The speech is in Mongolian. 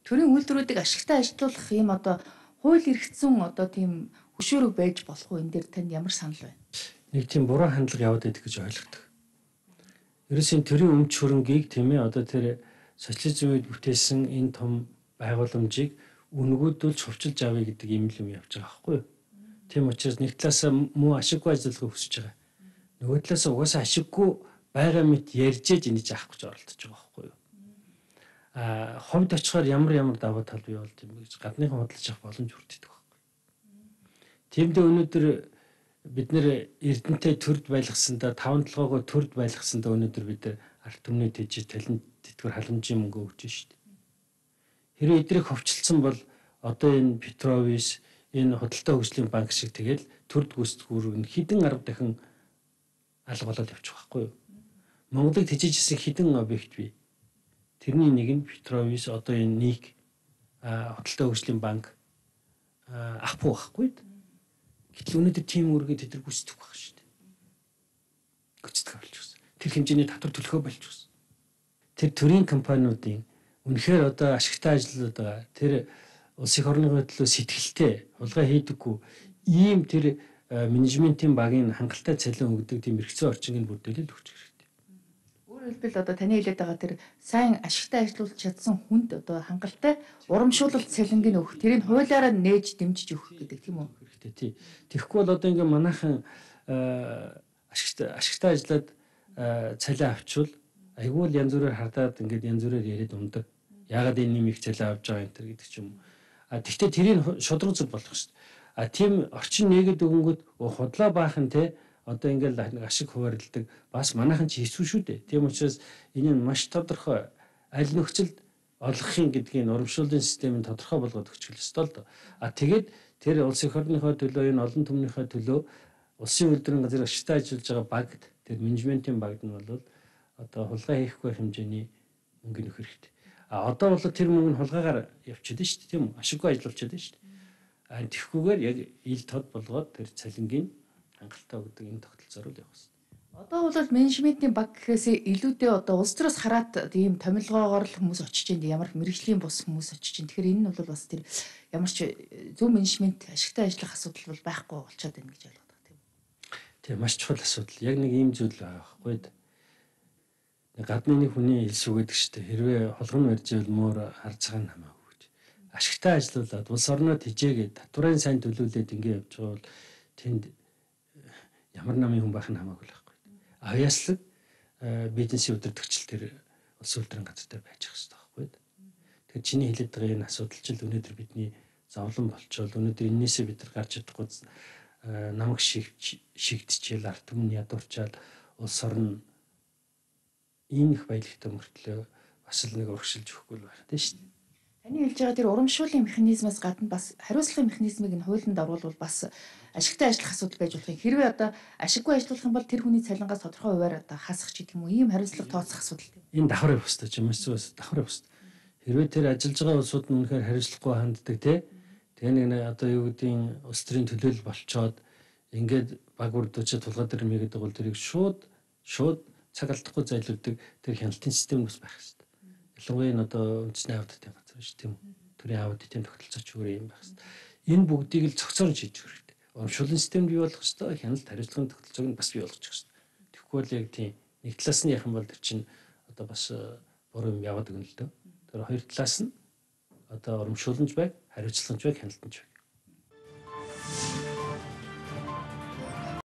төрийн үйлдвэрүүдийг ашигтай ажилуулах ийм одоо хууль эрхцэн одоо тийм хөшөөрөг байж болох уу? Энэ дээр танд ямар санал байна? Нэг тийм буруу хандлага яваад байдаг гэж ойлгодог. Ерөөсөө төрийн өмч хөрөнгийг тийм ээ одоо тэр социализм үед бүтээсэн энэ том байгууламжийг үнгүүдүүлж хувьчилж авъя гэдэг юм л юм явж байгаа байхгүй юу? Тийм учраас нэг талаасаа муу ашиггүй ажиллахыг хүсэж байгаа. Нөгөө талаасаа угаасаа ашиггүй байгаа мэт ярьж энийг заах гэж оролдож байгаа байхгүй юу? Ховд очихоор ямар даваа тал бий болж юм гэж гадныхан бодлож авах боломж хүртдэг байхгүй. Тиймдээ өнөөдөр бид нэр Эрдэнэтэй төрд байлгасандаа 5-7-гоо төрд байлгасандаа өнөөдөр бид арт түмний тэжиж талент тэтгэр халамжийн мөнгө өгч шít. Хэрэв эдрийг ховчлцсан бол одоо энэ Петровис энэ худалдаа хөгжлийн банк шиг тэгэл төрд гүйцэтгэхүүрэг нь хэдэн 10 дахин алга болоод явчих واخгүй юу? Монголыг тэжижсэн хэдэн объект бий. Тэрний нэг нь Петровис одоо энэ ник худалдаа хөгжлийн банк авахгүй байхгүй. Гэтэл өнөөдөр тийм үргээ тэд нар гүйцэтгэх байх шүү дээ. Гүйцэтгэх болж байна. Тэр хэмжээний татвар төлөхөө болж байна. Тэр төрийн компаниудын үнэхээр одоо ашигтай ажиллаад байгаа. Тэр улс их орны төлөө сэтгэлтэй хулгай хийдэггүй ийм тэр менежментийн багийн хангалттай цалин өгдөг тийм эрхцээ орчиныг бүрдүүлээд өгч хэрэгтэй. Өөрөөр хэлбэл одоо таны хэлээд байгаа тэр сайн ашигтай ажиллуулж чадсан хүнд одоо хангалттай урамшуулалт цалингийг өгөх, тэрийг хуулиараа нээж дэмжиж өгөх гэдэг тийм үү? Хэрэгтэй тий. Тэгэхгүй бол одоо ингээм манайхан ашигтай ажиллаад цалин авчвал айгүй л янз бүрээр хардаад ингээд янз бүрээр яриад ундаг. Яагаад энэ нэм их цалин авч байгаа юм тэр гэдэг ч юм. Тэгвэл тэрийг шудраг зүг болох шүү дээ. Тийм орчин нэгэд өгөнгөд худлаа баахан те одоо ингээл ашиг хуваарлдаг бас манайхан ч хийсвэ шүү дээ. Тийм учраас энэ нь маш тодорхой аль нөхцөлд олгохын гэдгийг урамшууллын системийг тодорхой болгоод өгч хэлсэн л доо. Тэгээд тэр улс их орныхоо төлөө энэ олон түмнийхээ төлөө улсын үйлдвэрийн газар ашигтай ажиллаж байгаа багт тэр менежментийн багт нь бол одоо хулгай хийхгүй хэмжээний мөнгө нөх хэрэгтэй. Одоо бол тэр мөнгө нь хулгайгаар явчихдаг шүү дээ тийм үү? Ашиггүй ажиллуулчихдаг шүү дээ. Тэгэхгүйгээр яг ил тод болгоод тэр цалингийн хангалттай өгдөг энэ тогтолцоор л явах хэрэгтэй. Одоо бол менежментийн баг гэхээсээ илүүтэй одоо улс төрөөс хараад тийм томилгоогоор л хүмүүс очиж ind ямар мэрэгжлийн бус хүмүүс очиж ind. Тэгэхээр энэ нь бол бас тэр ямар ч зөв менежмент ашигтай ажиллах асуудал бол байхгүй болчиход байна гэж ойлгодог тийм. Тийм маш чухал асуудал. Яг нэг ийм зүйл байгаа байхгүй. Гадны нэг хүний хэлсүү гэдэг чинь хэрвээ холгон барьж ивэл муур харцгаан хамаагүй гэж. Ашигтай ажиллуулад улс орноо тижээгээд татварын сайн төлүүлээд ингэ явж байгаа бол тэнд ямар намын хүн байх нь хамаагүй л байхгүй. Авьяаслаг бизнесийн удирдагчл тэр улс үйлдвэрийн газартай байж ах хэрэгтэй байхгүй. Тэгэхээр чиний хэлээд байгаа энэ асуудал чинь өнөөдөр бидний зовлон болчвол өнөөдөр энээсээ бид нар гарч чадахгүй намайг шигдчихэл арт түмэн ядуурчаад улс орн ийм их баялагтай мөртлөө бас л нэг урагшилж өгөхгүй л байна тийм шүү дээ. Таны хэлж байгаа тэр урамшууллын механизмаас гадна бас хариуцлагын механизмыг нь хуулинд оруулбал бас ашигтай ажиллах асуудал байж болох юм. Хэрвээ одоо ашиггүй ажиллах юм бол тэр хүний цалингаас тодорхой хувиар одоо хасах ч гэдэг юм уу ийм хариуцлага тооцох асуудал тийм. Энэ давхар явах хэрэгтэй юм эсвэл давхар явах хэрэгтэй. Хэрвээ тэр ажиллаж байгаа улсууд нь үнэхээр хариуцлагагүй ханддаг тийм. Тэгээ нэг одоо юу гэдгийг улс төрийн төлөөлөл болцоод ингээд баг бүрдүүчээ тулгаад ирмэгээд байгаа бол тэрийг шууд цаг алдахгүй зайлуулдаг тэр хяналтын систем бас байх хэрэгтэй. Ялангуяа энэ одоо үндэсний аудитын газар шүү тийм үү. Төрийн аудитын тогтолцооч өөр юм байх хэрэгтэй. Энэ бүгдийг л цогцоор шийдэх хэрэгтэй. Урамшууллын систем бий болох хэрэгтэй, хяналт хариуцлагын тогтолцоог нь бас бий болгочих хэрэгтэй. Тэгэхгүй бол яг тийм нэг талаас нь ярих юм бол тэр чинь одоо бас буруу юм яваад өгнө л дөө. Тэр хоёр талаас нь одоо урамшуулламж байг, хариуцлагч байг, хяналтч байг.